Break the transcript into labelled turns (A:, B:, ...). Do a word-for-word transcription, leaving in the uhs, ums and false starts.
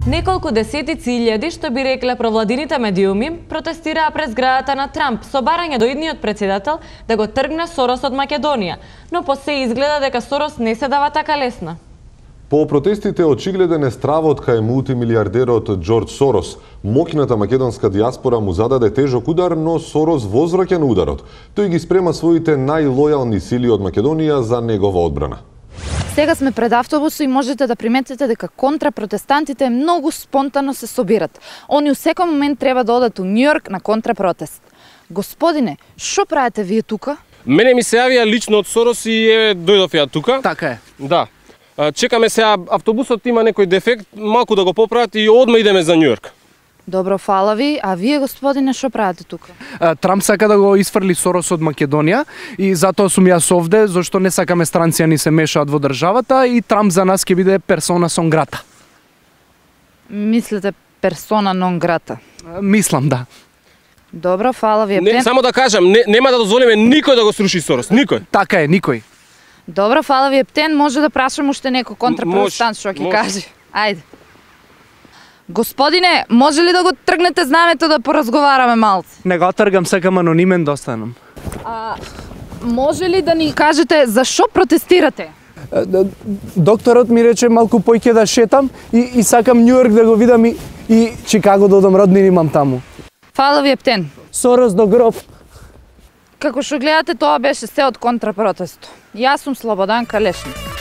A: Неколку десетици илјади, што би рекле провладините медиуми, протестираа пред зградата на Трамп со барање до идниот председател да го тргне Сорос од Македонија, но по се изгледа дека Сорос не се дава така лесна.
B: По протестите очигледен е стравот кај мултимилиардерот Џорџ Сорос. Моќната македонска дијаспора му зададе тежок удар, но Сорос возвраќа на ударот. Тој ги спрема своите најлојални сили од Македонија за негова одбрана.
C: Сега сме пред автобусот и можете да приметите дека контрапротестантите многу спонтано се собират. Они у секој момент треба да одат у Њујорк на контрапротест. Господине, што правите вие тука?
D: Мене ми се јавија лично од Сорос и е дојдов ја тука.
E: Така е.
D: Да. Чекаме сега, автобусот има некој дефект, малку да го поправат и одма идеме за Њујорк.
C: Добро, фала ви. А вие, господине, што правите тука?
E: Трамп сака да го isfrли Сорос од Македонија и затоа сум јас овде, зашто не сакаме странци ни се мешаат во државата и Трамп за нас ќе биде персона нон грата.
C: Мислите персона нон грата?
E: Мислам, да.
C: Добро, фала ви.
D: Не, само да кажам, не, нема да дозволиме никој да го сруши Сорос, никој.
E: Така е, никој.
C: Добро, фала ви, Ептен. Може да прашам уште некој контрапротестант што ќе каже. Ајде. Господине, може ли да го тргнете знамето да поразговараме малце?
E: Не го тргам, сакам анонимен да останам.
C: А, може ли да ни кажете зашо протестирате?
E: Докторот ми рече малку поќе да шетам и, и сакам Њујорк да го видам и, и Чикаго да одам, роднини имам таму.
C: Фала ви, Ептен.
E: Сорос до гроб.
C: Како што гледате, тоа беше се од контрапротесто. Јас сум Слободан Калешник.